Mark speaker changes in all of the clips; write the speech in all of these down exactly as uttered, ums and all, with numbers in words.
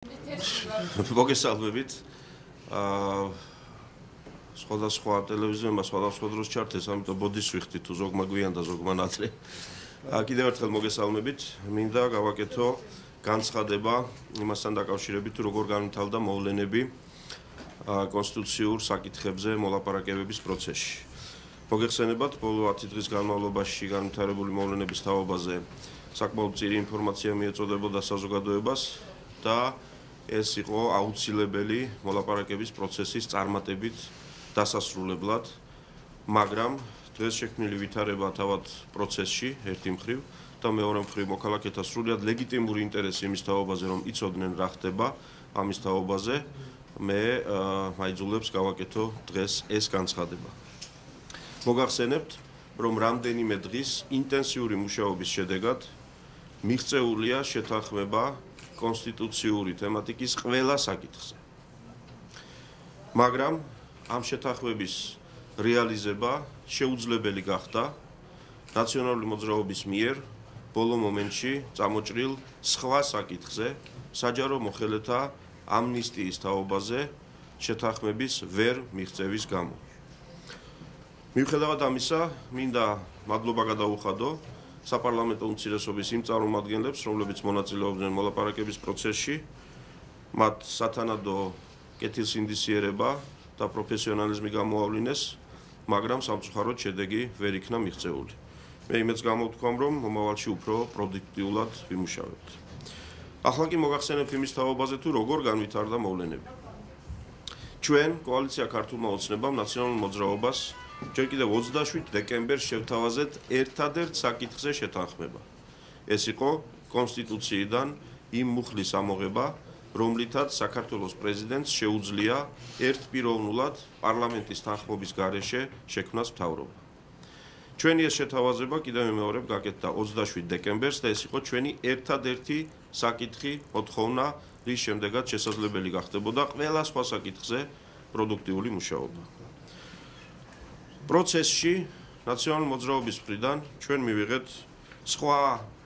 Speaker 1: მოგესალმებით. აა სხვადასხვა ტელევიზიებმა სხვადასხვა დროს ჩართეს, ამიტომ ბოდის ვიხდი თუ ზოგმა გვიან და ზოგმა ნაცრე. აა კიდევ ერთხელ მოგესალმებით. მინდა გავაკეთო განცხადება იმასთან დაკავშირებით, თუ როგორ განვითარდა მოვლენები აა კონსტიტუციურ საკითხებზე მოლაპარაკებების პროცესში. მოგეხსენებათ, ბოლო ათი დღის განმავლობაში განვითარებული მოვლენების თაობაზე საკმაოდ მწირი ინფორმაცია მიეწოდებოდა საზოგადოებას და ეს იყო აუცილებელი მოლაპარაკების პროცესის წარმატებით დასასრულებლად, მაგრამ დღეს შექმნილი ვითარება თავად პროცესში ერთი მხრივ და მეორე მხრივ მოქალაქეთა სრულიად ლეგიტიმური ინტერესი იმის თაობაზე, რომ იცოდნენ რა ხდება ამის თაობაზე, მე მაიძულებს გავაკეთო დღეს ეს განცხადება. მოგახსენებთ, რომ რამდენიმე დღის ინტენსიური მუშაობის შედეგად მიღწეულია შეთანხმება კონსტიტუციური თემატიკის ყველა საკითხზე. მაგრამ ამ შეთანხმების რეალიზება შეუძლებელი გახდა ნაციონალური მოძრაობის მიერ ბოლო მომენტში წამოჭრილ სხვა საკითხზე, საჯარო მოხელეთა ამნისტიის თაობაზე შეთანხმების ვერ მიღწევის გამო. მიუხედავად ამისა, მინდა მადლობა გადაუხადო საპარლამენტო უმცირესობის იმ წარმომადგენლებს, რომლებიც მონაწილეობდნენ მოლაპარაკების პროცესში, მათ სათანადო კეთილსინდისიერება და პროფესიონალიზმი გამოავლინეს, მაგრამ სამწუხაროდ შედეგი ვერ იქნა მიღწეული. მე იმედს გამოვთქვამ, რომ მომავალში უფრო პროდუქტიულად ვიმუშავებთ. ახლა კი მოგახსენებთ იმის თაობაზე, თუ როგორ განვითარდა მოვლენები. ჩვენ კოალიცია ქართულმა ოცნებამ ნაციონალურ მოძრაობას ჯერ კიდევ ოცდაშვიდ დეკემბერს შევთავაზეთ ერთადერთ საკითხზე შეთანხმება. ეს იყო კონსტიტუციიდან იმ მუხლის ამოღება, რომლითაც საქართველოს პრეზიდენტს შეუძლია ერთპიროვნულად პარლამენტის თანხმობის გარეშე შექმნას მთავრობა. ჩვენი ეს შეთავაზება კიდევ მეორედ გაკეთდა ოცდაშვიდ დეკემბერს და ეს იყო ჩვენი ერთადერთი საკითხი, მოთხოვნა, რის შემდეგაც შესაძლებელი გახდებოდა ყველა სხვა საკითხზე პროდუქტიული მუშაობა. პროცესში ნაციონალური მოძრაობის მხრიდან ჩვენ მივიღეთ სხვა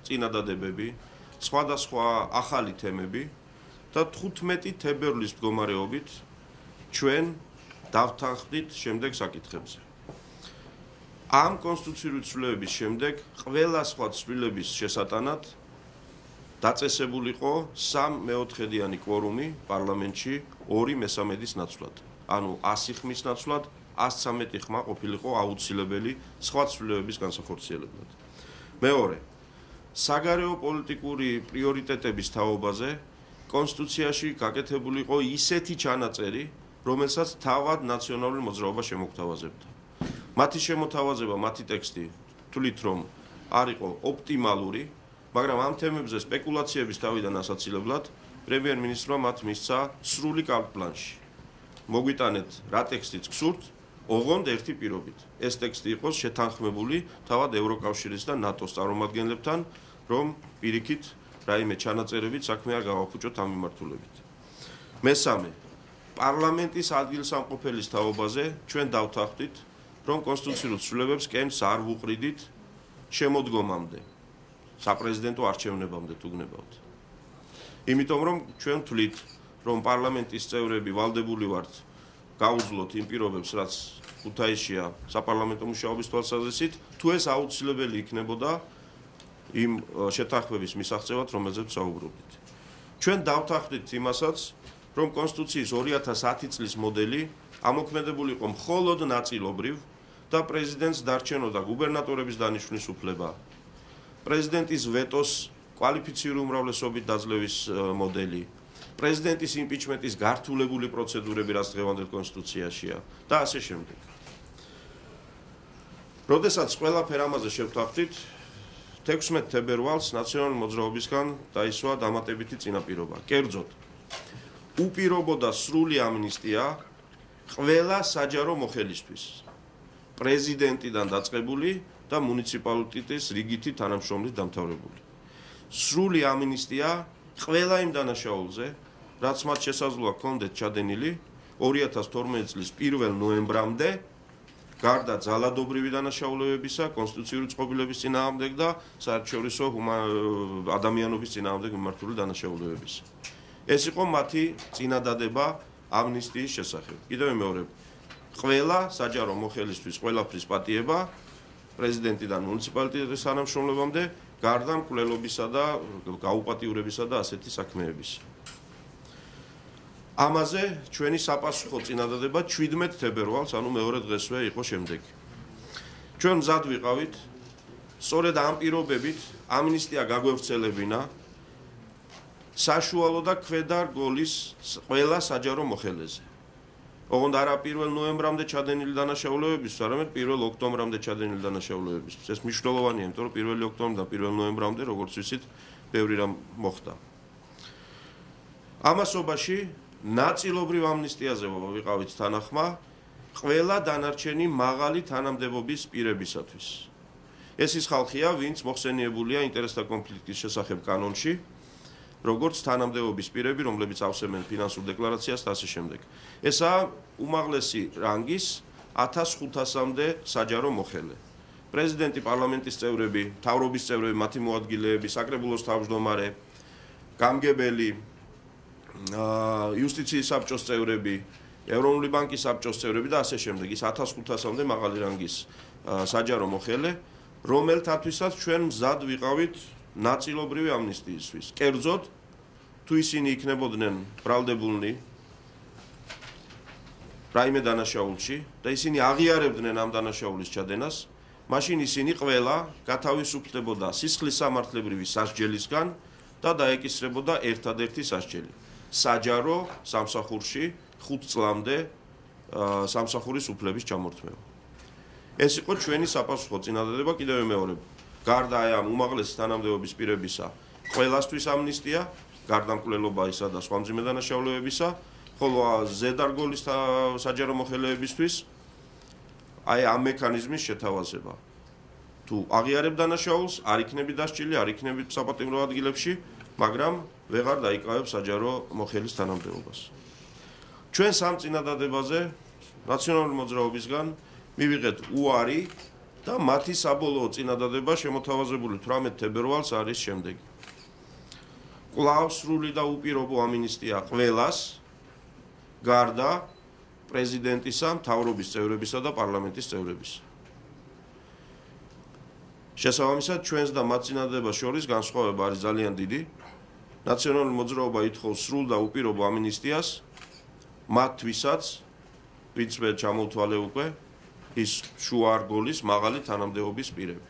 Speaker 1: წინადადებები, სხვადასხვა ახალი თემები და თხუთმეტი თებერვლის მდგომარეობით ჩვენ დავთანხმდით შემდეგ საკითხებზე. ამ კონსტიტუციური ცვლილების შემდეგ ყველა სხვა ცვლილების შესატანად დაწესებულიყო სამმეოთხედიანი კვორუმი პარლამენტში ორი მესამედის ნაცვლად, ანუ ასი ხმის ნაცვლად, ას ცამეტი ხმა ყოფილიყო აუცილებელი სხვა ცვლილებების განსახორციელებლად. მეორე, საგარეო პოლიტიკური პრიორიტეტების თაობაზე კონსტიტუციაში გაკეთებული იყო ისეთი ჩანაწერი, რომელსაც თავად ნაციონალური მოძრაობა შემოგთავაზებდა. მათი შემოთავაზება, მათი ტექსტი თვლით, რომ არ იყო ოპტიმალური, მაგრამ ამ თემებზე სპეკულაციების თავიდან ასაცილებლად პრემიერ-მინისტრმა მათ მისცა სრული კარტ-ბლანში. მოგვიტანეთ რა ტექსტიც გსურთ, ოღონდ ერთი პირობით. ეს ტექსტი იყოს შეთანხმებული თავად ევროკავშირის და ნატოს წარმომადგენლებთან, რომ პირიქით რაიმე ჩანაწერებით საქმე არ გავაფუჭოთ ამ მიმართულებით. მესამე, პარლამენტის ადგილსამყოფელის თაობაზე ჩვენ დავთანხმდით, რომ კონსტიტუციურ ცვლილებებს კენს არ ვუყრიდით შემოდგომამდე, საპრეზიდენტო არჩევნებამდე თუ გნებავთ. იმიტომ რომ ჩვენ ვთვლით, რომ პარლამენტის წევრები ვალდებული ვართ გაუძლოთ იმ პირობებს, რაც ქუთაისშია საპარლამენტო მუშაობის თვალსაზრისით, თუ ეს აუცილებელი იქნებოდა იმ შეთანხმების მისაღწევად, რომელზეც საუბრობდით. ჩვენ დავთანხმდით იმასაც, რომ კონსტიტუციის ორი ათას ათი წლის მოდელი ამოქმედებული იყო მხოლოდ ნაწილობრივ და პრეზიდენტს დარჩენოდა გუბერნატორების დანიშვნის უფლება, პრეზიდენტის ვეტოს კვალიფიციური უმრავლესობით დაძლევის მოდელი, პრეზიდენტის იმპიჩმენტის გართულებული პროცედურები, რაც დღევანდელ კონსტიტუციაშია და ასე შემდეგ. როდესაც ყველაფერ ამაზე შევთანხმდით, თექვსმეტ თებერვალს ნაციონალური მოძრაობისგან დაისვა დამატებითი წინაპირობა. კერძოდ, უპირობოდა სრული ამნისტია ყველა საჯარო მოხელისთვის, პრეზიდენტიდან დაწყებული და მუნიციპალიტეტის რიგითი თანამშრომლით დამთავრებული. სრული ამნისტია ყველა იმ დანაშაულზე, რაც მათ შესაძლოა ჰქონდეთ ჩადენილი ორი ათას თორმეტი წლის პირველ ნოემბრამდე გარდა ძალადობრივი დანაშაულებებისა, კონსტიტუციური წყობილების წინააღმდეგ და საერთაშორისო ადამიანობის წინააღმდეგ მიმართული დანაშაულებებისა. ეს იყო მათი წინადადება ამნისტიის შესახებ. კიდევ მეორე, ყველა საჯარო მოხელისთვის ყველაფრის პატიება პრეზიდენტიდან მუნიციპალიტეტის თანამშრომლებამდე გარდა მკვლელობისა და გაუპატიურებისა და ასეთი საქმეების. ამაზე ჩვენი საპასუხო წინადადება შვიდმეტ თებერვალს, ანუ მეორე დღესვე იყო შემდეგი. ჩვენ მზად ვიყავით, სწორედ ამ პირობებით ამნისტია გაგვევრცელებინა საშუალო და ქვედა რგოლის ყველა საჯარო მოხელეზე. ოღონდ არა პირველ ნოემბრამდე ჩადენილი დანაშაულებისთვის, არამედ პირველ ოქტომბრამდე ჩადენილი დანაშაულებისთვის. ეს მნიშვნელოვანია, იმიტომ რომ პირველი ოქტომბრიდან პირველ ნოემბრამდე, როგორც ვიცით, ბევრი რამ მოხდა. ამასობაში ნაწილობრივ ამნისტიაზე ვიყავით თანახმა ყველა დანარჩენი მაღალი თანამდებობის პირებისათვის. ეს ის ხალხია, ვინც მოხსენიებულია ინტერესთა კონფლიქტის შესახებ კანონში, როგორც თანამდებობის პირები, რომლებიც ავსებენ ფინანსურ დეკლარაციას და ასე შემდეგ. ესაა უმაღლესი რანგის ათას ხუთასამდე საჯარო მოხელე. პრეზიდენტი, პარლამენტის წევრები, მთავრობის წევრები, მათი მოადგილეები, საკრებულოს თავმჯდომარე, გამგებელი, იუსტიციის საბჭოს წევრები, ევროპული ბანკის საბჭოს წევრები და ასე შემდეგ. ის ათას ხუთასამდე მაღალი რანგის საჯარო მოხელე, რომელთათვისაც ჩვენ მზად ვიყავით ნაწილობრივი ამნისტიისთვის. კერძოდ, თუ ისინი იქნებოდნენ ბრალდებულნი რაიმე დანაშაულში და ისინი აღიარებდნენ ამ დანაშაულის ჩადენას, მაშინ ისინი ყველა გათავისუფლებოდა სისხლის სამართლებრივი სასჯელისგან და დაეკისრებოდა ერთადერთი სასჯელი. საჯარო სამსახურში ხუთ წლამდე სამსახურის უფლების ჩამორთმევა. ეს იყო ჩვენი საპასუხო წინადადება კიდევ მეორე. გარდა აი ამ უმაღლესი თანამდებობის პირებისა, ყველასთვის ამნისტია, გარდა მკვლელობისა და სხვა მძიმე დანაშაულებებისა, ხოლო ზედარგოლის საჯარო მოხელეებისთვის აი ამ მექანიზმის შეთავაზება. თუ აღიარებ დანაშაულს, არ იქნები დასჯილი, არ იქნები საპატიმრო ადგილებში, მაგრამ ვეღარ დაიკავებ საჯარო მოხელის თანამდებობას. ჩვენ სამ წინადადებაზე ნაციონალური მოძრაობისგან მივიღეთ უარი და მათი საბოლოო წინადადება შემოთავაზებული თვრამეტ თებერვალს არის შემდეგი. კვლავ სრული და უპირობო ამნისტია ყველას, გარდა პრეზიდენტისა, მთავრობის წევრებისა და პარლამენტის წევრებისა. შესაბამისად, ჩვენს და მათ წინადადებას შორის განსხვავება არის ძალიან დიდი. ნაციონალური მოძრაობა ითხოვს სრულ და უპირობო ამნისტიას მათთვისაც, ვინც მე ჩამოვთვალე უკვე, ის შუა რგოლის მაღალი თანამდებობის პირები.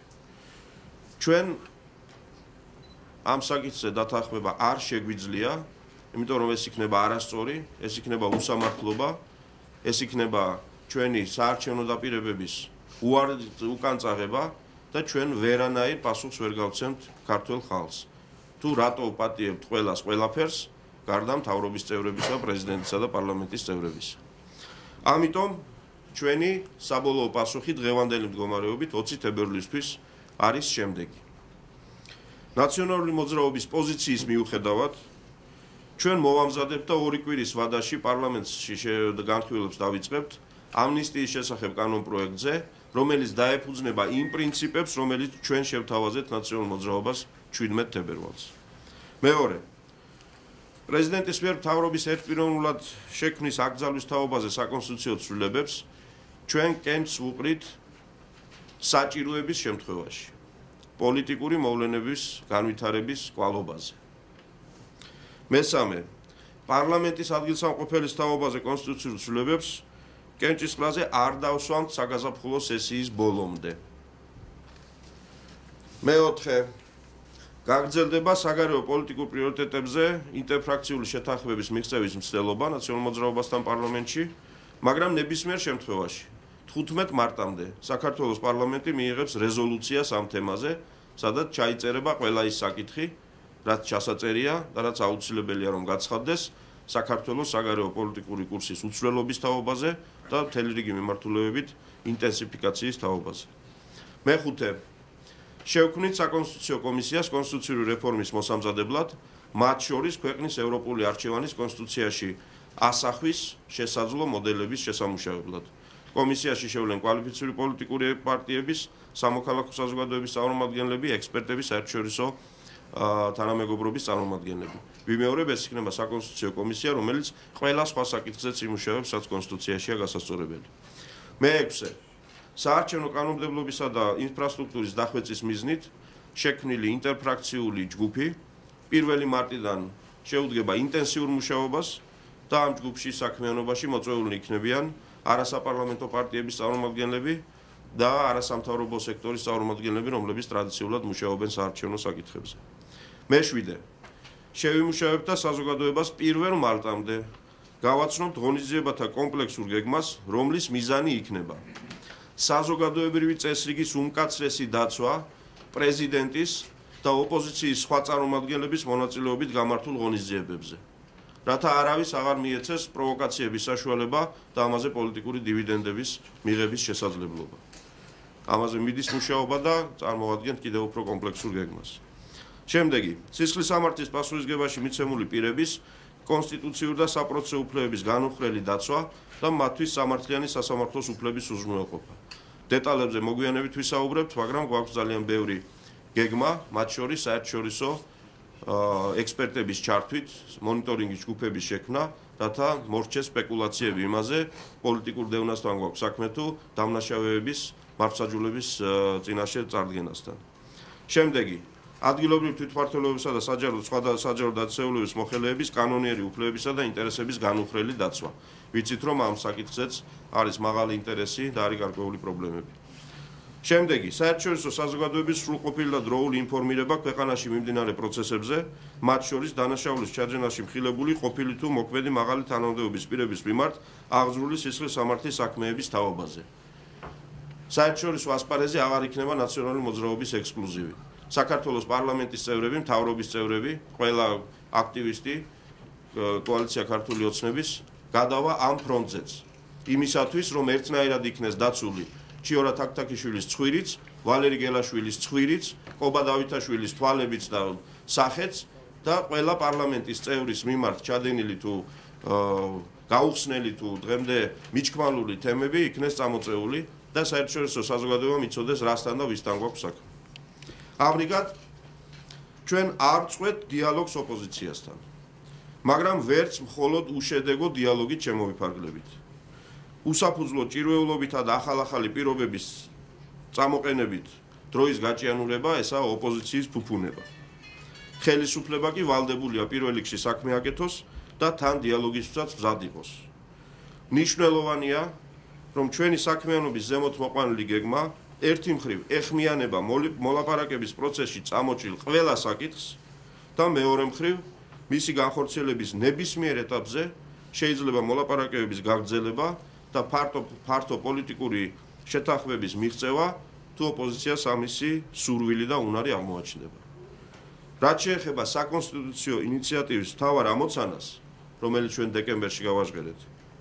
Speaker 1: ჩვენ ამ საკითხზე დათანხმება არ შეგვიძლია, იმიტომ რომ ეს იქნება არასწორი, ეს იქნება უსამართლობა, ეს იქნება ჩვენი საარჩევნო დაპირებების უკანწაღება და ჩვენ ვერანაირ პასუხს ვერ გავცემთ ქართულ ხალხს. თუ რატო პატიებთ ყველას ყველაფერს, გარდა მთავრობის წევრებისა, პრეზიდენტისა და პარლამენტის წევრებისა. ამიტომ ჩვენი საბოლოო პასუხი დღევანდელი მდგომარეობით ოცი თებერვლისთვის არის შემდეგი. ნაციონალური მოძრაობის პოზიციის მიუხედავად, ჩვენ მოვამზადებთ და ორი კვირის ვადაში პარლამენტში განხილვებს დავიწყებთ ამნისტიის შესახებ კანონპროექტზე, რომელიც დაეფუძნება იმ პრინციპებს, რომელიც ჩვენ შევთავაზეთ ნაციონალურ მოძრაობას შვიდმეტ თებერვალს. მეორე, პრეზიდენტის მიერ მთავრობის ერთპიროვნულად შექმნის აკრძალვის თაობაზე საკონსტიტუციო ცვლილებებს ჩვენ კენჭს ვუყრით საჭიროების შემთხვევაში, პოლიტიკური მოვლენების განვითარების კვალობაზე. მესამე, პარლამენტის ადგილსამყოფელის თაობაზე კონსტიტუციურ ცვლილებებს კენჭის ყრაზე არ დავსვამთ საგაზაფხულო სესიის ბოლომდე. მეოთხე, გაგრძელდება საგარეო პოლიტიკურ პრიორიტეტებზე ინტერფრაქციული შეთანხმების მიღწევის მცდელობა ნაციონალურ მოძრაობასთან პარლამენტში, მაგრამ ნებისმიერ შემთხვევაში თხუთმეტ მარტამდე საქართველოს პარლამენტი მიიღებს რეზოლუციას ამ თემაზე, სადაც ჩაიწერება ყველა ის საკითხი, რაც ჩასაწერია და რაც აუცილებელია რომ გაცხადდეს საქართველოს საგარეო პოლიტიკური კურსის უცვლელობის თაობაზე და მთელი რიგი მიმართულებებით ინტენსიფიკაციის თაობაზე. მეხუთე, შევქმნით საკონსტიტუციო კომისიას კონსტიტუციური რეფორმის მოსამზადებლად, მათ შორის ქვეყნის ევროპული არჩევანის კონსტიტუციაში ასახვის შესაძლო მოდელების შესამუშავებლად. კომისიაში შევლენ კვალიფიციური პოლიტიკური პარტიების, სამოქალაქო საზოგადოების წარმომადგენლები, ექსპერტები, საერთაშორისო თანამეგობრობის წარმომადგენლები. ვიმეორებ, ეს იქნება საკონსტიტუციო კომისია, რომელიც ყველა სხვა საკითხზეც იმუშავებს, რაც კონსტიტუციაშია გასასწორებელი. მეექვსე. საარჩევნო კანონმდებლობისა და ინფრასტრუქტურის დახვეწის მიზნით შექმნილი ინტერფრაქციული ჯგუფი პირველი მარტიდან შეუდგება ინტენსიურ მუშაობას და ამ ჯგუფში საქმიანობაში მოწვეული იქნებიან არასაპარლამენტო პარტიების წარმომადგენლები და არასამთავრობო სექტორის წარმომადგენლები, რომლებიც ტრადიციულად მუშაობენ საარჩევნო საკითხებზე. მეშვიდე. შევიმუშავებთ და საზოგადოებას პირველ მარტამდე გავაცნობთ ღონისძიებათა კომპლექსურ გეგმას, რომლის მიზანი იქნება საზოგადოებრივი წესრიგის უმკაცრესი დაცვა პრეზიდენტის და ოპოზიციის სხვა წარმომადგენლების მონაწილეობით გამართულ ღონისძიებებზე, რათა არავის აღარ მიეცეს პროვოკაციების საშუალება და ამაზე პოლიტიკური დივიდენდების მიღების შესაძლებლობა. ამაზე მიდის მუშაობა და წარმოადგენთ კიდევ უფრო კომპლექსურ გეგმას. შემდეგი, სისხლის სამართლის პასუხისგებაში მიცემული პირების კონსტიტუციური და საპროცესო უფლებების განუხრელი დაცვა და მათთვის სამართლიანი სასამართლოს უფლების უზრუნველყოფა. დეტალებზე მოგვიანებით ვისაუბრებთ, მაგრამ გვაქვს ძალიან ბევრი გეგმა, მათ შორის საერთაშორისო ექსპერტების ჩართვით, მონიტორინგის ჯგუფების შექმნა, რათა მორჩეს სპეკულაციები იმაზე, პოლიტიკურ დევნასთან გვაქვს საქმე თუ დამნაშავეების მართლმსაჯულების წინაშე წარდგენასთან. შემდეგი, ადგილობრივი თვითმმართველობისა და საჯარო სხვა საჯარო დაწესებულების მოხელეების კანონიერი უფლებებისა და ინტერესების განუხრელი დაცვა. ვიცით, რომ ამ საკითხზეც არის მაღალი ინტერესი და არის გარკვეული პრობლემები. შემდეგი, საერთაშორისო საზოგადოების სრულყოფილი და დროული ინფორმირება ქვეყანაში მიმდინარე პროცესებზე, მათ შორის დანაშაულის ჩაძენაში მხილებული ყოფილი თუ მოქმედი მაღალი თანამდებობის პირების მიმართ აღძრული სისხლის სამართლის საქმეების თაობაზე. საერთაშორისო ასპარეზი აღარ იქნება ნაციონალური მოძრაობის ექსკლუზივი. საქართველოს პარლამენტის წევრები, მთავრობის წევრები, ყველა აქტივისტი კოალიცია ქართული ოცნების გადავა ამ ფრონტზეც. იმისათვის, რომ ერთნაირად იქნეს დაცული ჩიორა თაქთაქიშვილის ცხვირიც, ვალერი გელაშვილის ცხვირიც, კობა დავითაშვილის თვალებიც და სახეც და ყველა პარლამენტის წევრის მიმართ ჩადენილი თუ გაუხსნელი თუ დღემდე მიჩქმალური თემები იქნეს წამოწეული და საერთაშორისო საზოგადოებამ იცოდეს რასთან და ვისთან გვაქვს საქმე. ამრიგად, ჩვენ არ წყვეთ დიალოგს ოპოზიციასთან, მაგრამ ვერც მხოლოდ უშედეგო დიალოგით შემოვიფარგლებით. უსაფუძვლო ჭირვეულობითა და ახალ-ახალი პირობების წამოყენებით დროის გაჭიანურება, ესაა ოპოზიციის ფუფუნება. ხელისუფლება კი ვალდებულია პირველ რიგში საქმე აკეთოს და თან დიალოგისთვისაც მზად იყოს. მნიშვნელოვანია, რომ ჩვენი საქმიანობის ზემოთ მოყვანილი გეგმა ერთი მხრივ ეხმიანება მოლაპარაკების პროცესში წამოჭრილ ყველა საკითხს და მეორე მხრივ მისი განხორციელების ნებისმიერ ეტაპზე შეიძლება მოლაპარაკებების გაგრძელება და ფართო ფართო პოლიტიკური შეთანხმების მიღწევა თუ ოპოზიციას ამისი სურვილი და უნარი აღმოაჩნდება. რაც შეეხება საკონსტიტუციო ინიციატივის მთავარ ამოცანას, რომელიც ჩვენ დეკემბერში გავაჟღერეთ,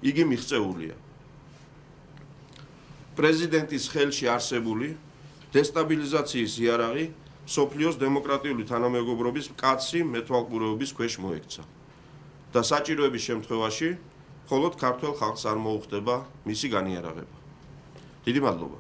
Speaker 1: იგი მიღწეულია. პრეზიდენტის ხელში არსებული დესტაბილიზაციის იარაღი მსოფლიოს დემოკრატიული თანამეგობრობის მკაცრი მეთვალყურეობის ქვეშ მოექცა და საჭიროების შემთხვევაში მხოლოდ ქართველ ხალხს არ მოუხდება მისი განიარაღება. დიდი მადლობა.